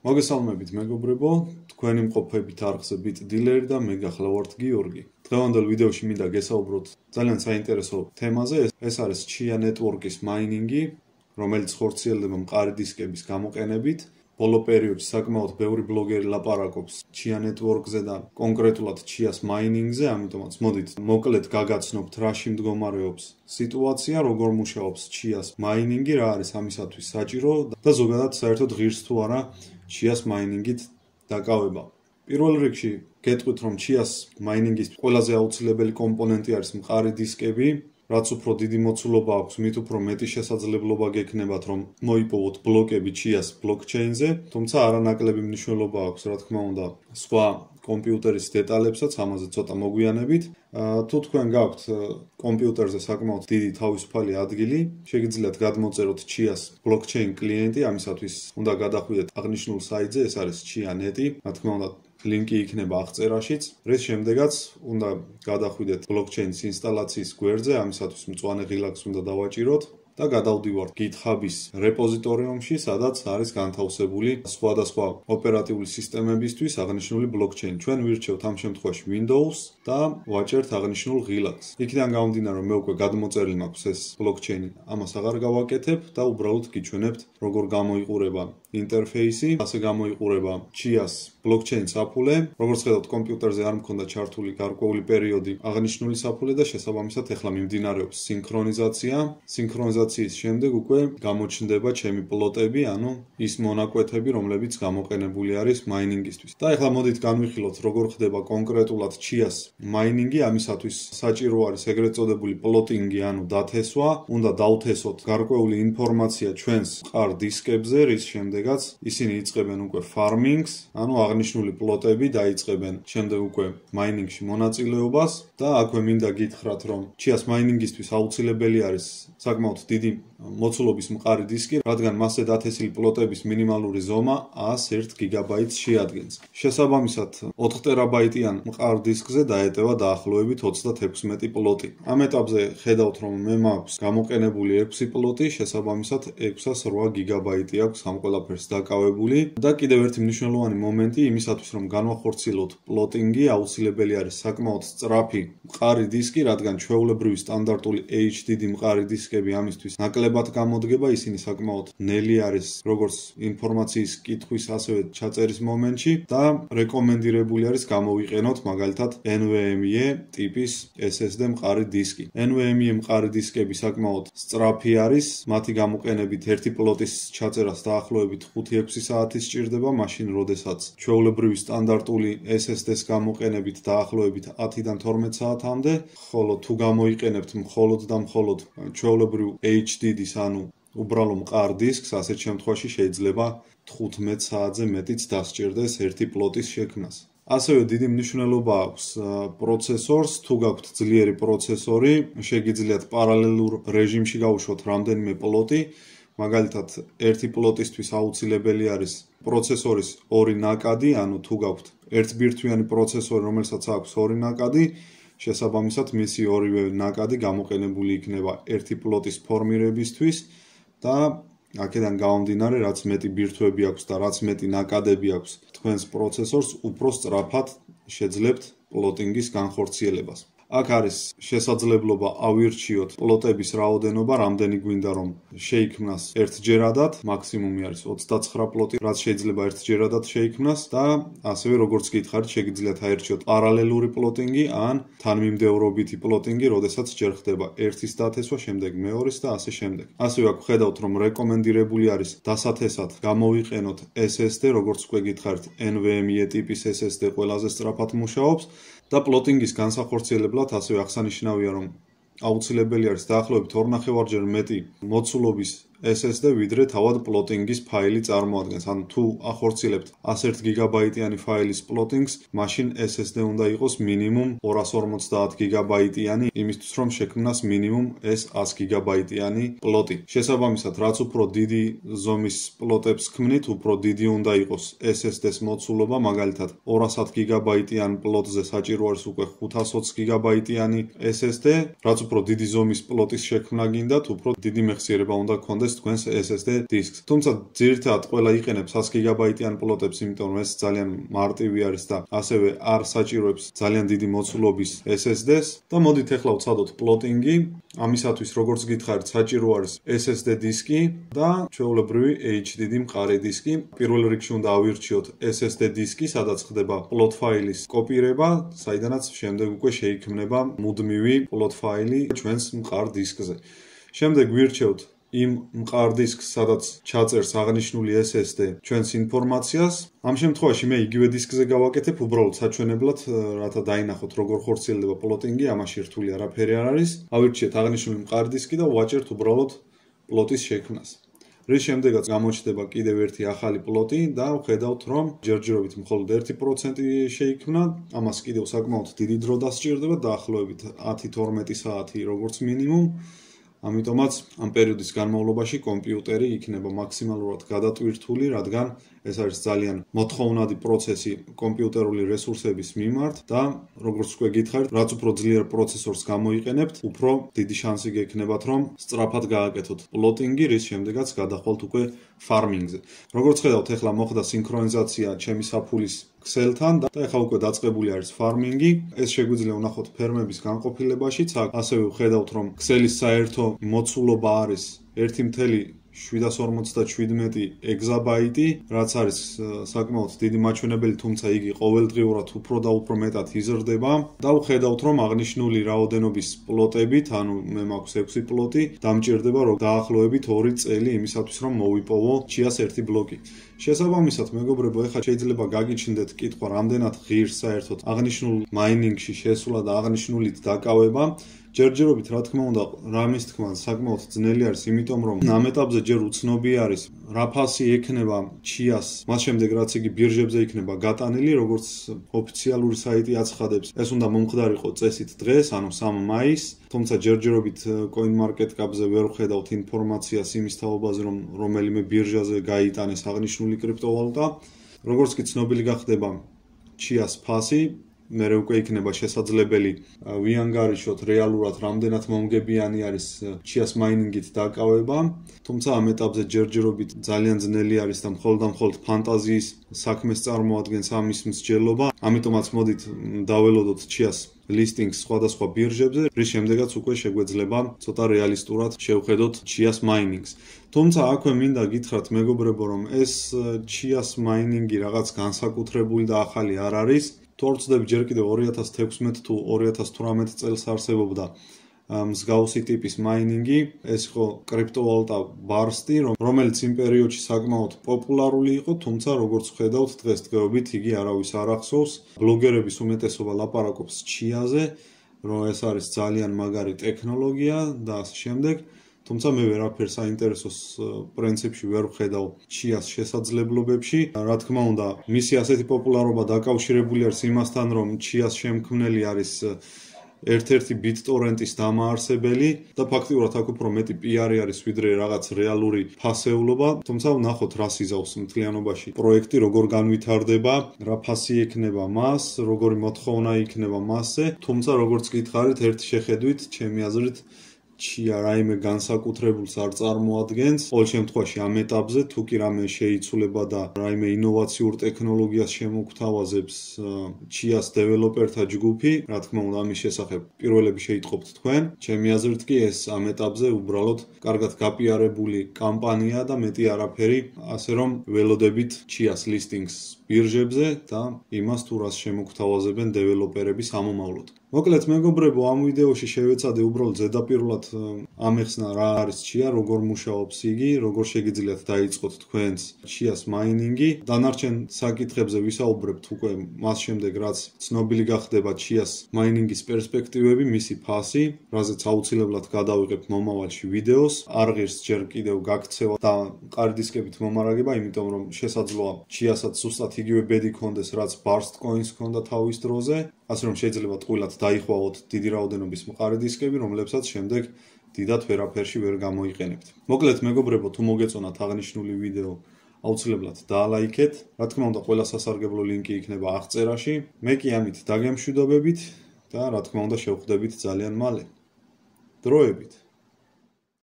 მოგესალმებით მეგობრებო, თქვენი მყოფებით არხზე Bit Dealer და მე გახლავართ გიორგი. დღევანდელ ვიდეოში მინდა გესაუბროთ ძალიან საინტერესო თემაზე, ეს არის Chia Network-ის მაინინგი, რომელიც ხორციელდება მყარი დისკების გამოყენებით. ბოლო პერიოდში საკმაოდ ბევრი ბლოგერი ლაპარაკობს Chia Network-ზე და კონკრეტულად Chia-ს მაინინგზე, ამიტომაც მოდით მოკლედ გაგაცნობთ რაში მდგომარეობს სიტუაცია, როგორ მუშაობს Chia-ს მაინინგი, რა არის ამისათვის საჭირო და ზოგადად საერთოდ ღირს თუ არა Chia-ს მაინინგით დაკავება. პირველ რიგში გეტყვით, რომ Chia-ს მაინინგის ყველაზე აუცილებელი კომპონენტი არის მყარი დისკები. რაც უფრო დიდი მოცულობა აქვს, მით უფრო მეტი შესაძლებლობა გექნებათ, რომ მოიპოვოთ ბლოკები Chia-s ბლოკჩეინზე, თუმცა არანაკლები მნიშვნელობა აქვს, რა თქმა უნდა, სხვა კომპიუტერის დეტალებსაც, ამაზე ცოტა მოგვიანებით. თუ თქვენ გაქვთ კომპიუტერზე საკმაოდ დიდი თავისუფალი ადგილი, შეგიძლიათ გადმოწეროთ Chia-s ბლოკჩეინ კლიენტი, ამისათვის უნდა გადახვიდეთ აღნიშნულ საიტზე, ეს არის Chia.net, რა თქმა უნდა, ლინკი იქნება აღწერაშიც. რის შემდეგაც უნდა გადახვიდეთ ბლოკჩეინის ინსტალაციის გვერდზე, ამისათვის მწვანე ღილაკს უნდა დავაჭიროთ და გადავდივართ GitHub-ის რეპოზიტორიუმში, სადაც არის განთავსებული სხვადასხვა ოპერატიული სისტემებისთვის აღნიშნული ბლოკჩეინი. ჩვენ ვირჩევთ ამ შემთხვევაში Windows და ვაჭერთ აღნიშნულ ღილაკს. იქიდან გამომდინარე, რომ მე უკვე გადმოწერილი მაქვს ეს ბლოკჩეინი, ამას აღარ გავაკეთებ და უბრალოდ გიჩვენებთ, როგორ გამოიყურება ინტერფეისი, ასე გამოიყურება Chia-s ბლოკჩეინ საფულე. როგორც ხედავთ, კომპიუტერზე არ მქონდა ჩართული გარკვეული პერიოდი აღნიშნული საფულე და შესაბამისად ეხლა მიმდინარეობს სინქრონიზაცია. სინქრონიზაციის შემდეგ უკვე გამოჩნდება ჩემი პლოტები, ანუ ის მონაკვეთები, რომლებიც გამოყენებული არის მაინინგისთვის. და ეხლა მოდით განვიხილოთ, როგორ ხდება კონკრეტულად Chia-s მაინინგი. ამისათვის საჭირო არის ეგრეთ წოდებული პლოტინგი, ანუ დათესვა. უნდა დავთესოთ გარკვეული ინფორმაცია ჩვენს მყარ დისკებზე, რის შემდეგაც ისინი იწყებენ უკვე farming-ს, ანუ აღნიშნული პლოტები დაიწყებენ შემდეგ უკვე მაინინგში მონაწილეობას და აქვე მინდა გითხრათ, რომ Chia-s მაინინგისთვის აუცილებელი არის საკმაოდ დიდი მოცულობის მყარი დისკი, რადგან მასზე დათესილი პლოტების მინიმალური ზომა 101 გიგაბაიტს შეადგენს. შესაბამისად, 4 ტერაბაიტიან მყარ დისკზე დაეტევა დაახლოებით 36 პლოტი. ამ ეტაპზე ხედავთ, რომ მე მაქვს გამოყენებული 6 პლოტი, შესაბამისად 608 გიგაბაიტი აქვს ამ ყველაფერს დაკავებული და კიდევ ერთი მნიშვნელოვანი მომენტი იმისათვის, რომ განვახორციელოთ პლოტინგი, აუცილებელი არის საკმაოდ სწრაფი მყარი დისკი, რადგან ჩვეულებრივი სტანდარტული HDD მყარი დისკები ამისთვის ნაკლებად გამოდგება, ისინი საკმაოდ ნელი არის როგორც ინფორმაციის კითხვის, ასევე ჩაწერის მომენტში და რეკომენდირებული არის გამოვიყენოთ მაგალითად NVMe ტიპის SSD მყარი დისკი. NVMe მყარი დისკები საკმაოდ სწრაფი არის, მათი გამოყენებით ერთი პლოტის ჩაწერას დაახლოებით 5-6 საათი სჭირდება, მაშინ როდესაც ჩვეულებრივი სტანდარტული SSD-s გამოყენებით დაახლოებით 10-დან 12 საათამდე, ხოლო თუ გამოიყენებთ მხოლოდ და მხოლოდ ჩვეულებრივ HDD-s, ანუ უბრალო მყარ დისკს, ასეთ შემთხვევაში შეიძლება 15 საათზე მეტიც დასჭირდეს ერთი პლოტის შექმნას. ასევე დიდი მნიშვნელობა აქვს პროცესორს, თუ გაქვთ ძლიერი პროცესორი, შეგიძლიათ პარალელურ რეჟიმში გაუშვოთ რამდენიმე პლოტი. მაგალითად, ერთი პლოტისთვის აუცილებელი არის პროცესორის 2 ნაკადი, ანუ თუ გაქვთ ერთბირთვიანი პროცესორი, რომელსაც აქვს 2 ნაკადი, შესაბამისად მისი ორივე ნაკადი გამოყენებული იქნება ერთი პლოტის ფორმირებისთვის და აქედან გამომდინარე, რაც მეტი ბირთვები აქვს და რაც მეტი ნაკადები აქვს თქვენს პროცესორს, უფრო სწრაფად შეძლებთ პლოტინგის განხორციელებას. აქ არის შესაძლებლობა ავირჩიოთ პლოტების რაოდენობა, რამდენი გვინდა რომ შეიქმნას ერთჯერადად, მაქსიმუმი არის 29 პლოტი, რაც შეიძლება ერთჯერადად შეიქმნას და ასევე როგორც გითხარით, შეგიძლიათ აირჩიოთ პარალელური პლოტინგი ან თანმიმდევრობითი პლოტინგი, როდესაც ჯერ ხდება ერთის დათესვა, შემდეგ მეორის და ასე შემდეგ. ასევე აქ ხედავთ, რომ რეკომენდირებული არის დასათესად გამოვიყენოთ SSD, როგორც უკვე გითხარით, NVMe ტიპის SSD ყველაზე სწრაფად მუშაობს და პლოტინგის განსახორციელებლად ასევე აღსანიშნავია, რომ აუცილებელი არის დაახლოებით 2.5-ჯერ მეტი მოცულობის SSD, ვიდრე თავად პლოტინგის ფაილი წარმოადგენს. ანუ თუ ახორციელებთ 101 გიგაბაიტიანი ფაილის პლოტინგს, მაშინ SSD უნდა იყოს მინიმუმ 250 გიგაბაიტიანი, იმისთვის რომ შექმნას მინიმუმ ეს 100 გიგაბაიტიანი პლოტი. შესაბამისად, რაც უფრო დიდი ზომის პლოტებს ქმნით, უფრო დიდი უნდა იყოს SSD-s მოცულობა, მაგალითად 200 გიგაბაიტიან პლოტზე საჭირო არის უკვე 520 გიგაბაიტიანი SSD, რაც უფრო დიდი ზომის პლოტის შექმნა გინდათ, უფრო დიდი მეხსიერება უნდა გქონდეს გააჩნდეს თქვენს SSD დისკს. თუმცა ძირითადად ყველა იყენებს 100 გიგაბაიტიან პლოტებს, იმიტომ რომ ეს ძალიან მარტივი არის და ასევე არ საჭიროებს ძალიან დიდი მოცულობის SSD-ს. და მოდით ახლა ვცადოთ პლოტინგი. ამისათვის როგორც გითხარით, საჭირო არის SSD დისკი და ჩვეულებრივი HDD მყარი დისკი. პირველ რიგში უნდა ავირჩიოთ SSD დისკი, სადაც ხდება პლოტ ფაილის კოპირება, საიდანაც შემდეგ უკვე შეიქმნება მუდმივი პლოტ ფაილი ჩვენს მყარ დისკზე. შემდეგ ვირჩევთ იმ მყარ დისკს, სადაც ჩაწერს აღნიშნული SSD ჩვენს ინფორმაციას. ამ შემთხვევაში მე იგივე დისკზე გავაკეთებ, უბრალოდ საჩვენებლად, რათა დაინახოთ როგორ ხორციელდება პლოტინგი, ამაში რთული არაფერი არ არის. ავირჩიეთ აღნიშნული მყარ დისკი და ვაჭერთ უბრალოდ პლოტის შექმნას. რის შემდეგაც გამოჩნდება კიდევ ერთი ახალი პლოტი და ვხედავთ, რომ ჯერჯერობით მხოლოდ 1% შეიქმნა. ამას კიდევ საკმაოდ დიდი დრო დასჭირდება, დაახლოებით 10-12 საათი როგორც მინიმუმ. ამიტომაც ამ პერიოდის განმავლობაში კომპიუტერი იქნება მაქსიმალურად გადატვირთული, რადგან ეს არის ძალიან მოთხოვნადი პროცესი კომპიუტერული რესურსების მიმართ და როგორც უკვე გითხარით, რაც უფრო ძლიერ პროცესორს გამოიყენებთ, უფრო დიდი შანსი გექნებათ, რომ სწრაფად გააკეთოთ პლოტინგი, რის შემდეგაც გადახვალთ უკვე ფარმინგზე. როგორც ხედავთ, ახლა მოხდა სინქრონიზაცია ჩემი საფულის ქსელთან და ახლა უკვე დაწყებული არის ფარმინგი. ეს შეგვიძლია ვნახოთ ფერმების განყოფილებაშიც. ასევე ვხედავთ, რომ ქსელის საერთო მოცულობა არის 1,757 ეგზაბაიტი, რაც არის საკმაოდ დიდი მაჩვენებელი, თუმცა იგი ყოველდღიურად უფრო და უფრო მეტად იზრდება და ვხედავთ, რომ აღნიშნული რაოდენობის პლოტებით, ანუ მე მაქვს 6 პლოტი, დამჭირდება რომ დაახლოებით 2 წელი იმისათვის, რომ მოვიპოვო ჩიას ერთი ბლოკი. შესაბამისად, მეგობრებო, ეხლა შეიძლება გაგიჩნდეთ კითხვა, რამდენად ღირს საერთოდ აღნიშნულ მაინინგში შესვლა და აღნიშნულით დაკავება. ჯერჯერობით, რა თქმა უნდა, რამის თქმა საკმაოდ ძნელი არის, იმიტომ რომ ამ ეტაპზე ჯერ უცნობი არის, რა ფასი ექნება ჩიას, მას შემდეგ რაც იგი ბირჟებზე იქნება გატანილი, როგორც ოფიციალური საიტი აცხადებს, ეს უნდა მომხდარიყო წესით დღეს, ანუ 3 მაისს, თუმცა ჯერჯერობით CoinMarketCap-ზე ვერ ვხედავთ ინფორმაციას იმის თაობაზე, რომ რომელიმე ბირჟაზე გაიტანეს აღნიშნული კრიპტოვალუტა. როგორც კი ცნობილი გახდება ჩიას ფასი, მერე უკვე იქნება შესაძლებელი ვიანგარიშოთ რეალურად რამდენად მომგებიანი არის ჩიას მაინინგით დაკავება, თუმცა ამ ეტაპზე ჯერჯერობით ძალიან ძნელი არის და მხოლოდ ფანტაზიის საქმეს წარმოადგენს ამის მსჯელობა. ამიტომაც მოდით დაველოდოთ ჩიას ლისტინგს სხვადასხვა ბირჟებზე, რის შემდეგაც უკვე შეგვეძლება ცოტა რეალისტურად შევხედოთ ჩიას მაინინგს. თუმცა აქვე მინდა გითხრათ, მეგობრებო, რომ ეს ჩიას მაინინგი რაღაც განსაკუთრებული და ახალი არ არის. თუ არ ვცდები, ჯერ კიდევ 2016 თუ 2018 წელს არსებობდა მსგავსი ტიპის მაინინგი, ეს იყო კრიპტოვალუტა ბარსტი, რომელიც იმ პერიოდში საკმაოდ პოპულარული იყო, თუმცა როგორც ვხედავთ, დღესდღეობით იგი არავის არ ახსოვს. ბლოგერების უმეტესობა ლაპარაკობს ჩიაზე, რომ ეს არის ძალიან მაგარი ტექნოლოგია და ასე შემდეგ. თუმცა მე ვერაფერს საინტერესოს პრინციპში ვერ ვხედავ ჩიას შესაძლებლობებში. რა თქმა უნდა, მისი ასეთი პოპულარობა დაკავშირებული არის იმასთან, რომ ჩიას შემქმნელი არის ერთ-ერთი BitTorrent-ის დამაარსებელი და ფაქტიურად აქ უფრო მეტი PR-ი არის ვიდრე რაღაც რეალური ფასეულობა. თუმცა ვნახოთ, რა სიზავს მთლიანობაში პროექტი, როგორ განვითარდება, რა ფასი ექნება მას, როგორი მოთხოვნა იქნება მასზე. თუმცა როგორც გითხარით, ერთი შეხედვით, ჩემი აზრით ჩია რაიმე განსაკუთრებულს არ წარმოადგენს. ყოველ შემთხვევაში ამ ეტაპზე თუ კი რამე შეიცვლება და რაიმე ინოვაციურ ტექნოლოგიას შემოგთავაზებს ჩიას დეველოპერთა ჯგუფი, რა თქმა უნდა ამის შესახებ პირველები შეიტყობთ თქვენ. ჩემი აზრით კი ეს ამ ეტაპზე უბრალოდ კარგად გაპიარებული კამპანია და მეტი არაფერი, ასე რომ ველოდებით ჩიას ლისტინგს ბირჟებზე და იმას თუ რას შემოგთავაზებენ დეველოპერები სამომავლოდ. მოკლედ მეგობრებო, ამ ვიდეოში შევეცადე უბრალოდ ზედაპირულად ამეხსნა რა არის ჩია, როგორ მუშაობს იგი, როგორ შეგიძლიათ დაიწყოთ თქვენს ჩიას მაინინგი. დანარჩენ საკითხებზე ვისაუბრებთ უკვე მას შემდეგ, რაც ცნობილი გახდება ჩიას მაინინგის პერსპექტივები, მისი ფასი, რაზეც აუცილებლად გადავიღებ მომავალში ვიდეოს. არ ღირს ჯერ კიდევ გაქცევა და მყარი დისკებით მომარაგება, იმიტომ რომ შესაძლოა ჩიასაც ზუსტად იგივე ბედი ქონდეს, რაც Burst Coins ქონდა თავის დროზე, ასე რომ შეიძლება ტყუილად დაიხვალოთ დიდი რაოდენობის მყარი დისკები, რომლებსაც შემდეგ დიდად ვერაფერში ვერ გამოიყენებთ. მოკლედ მეგობრებო, თუ მოგეწონათ აღნიშნული ვიდეო, აუცილებლად დაალაიქეთ. რა თქმა უნდა, ყველა სასარგებლო ლინკი იქნება აღწერაში. მე კი ამით დაგემშვიდობებით და რა თქმა უნდა შევხვდებით ძალიან მალე. დროებით.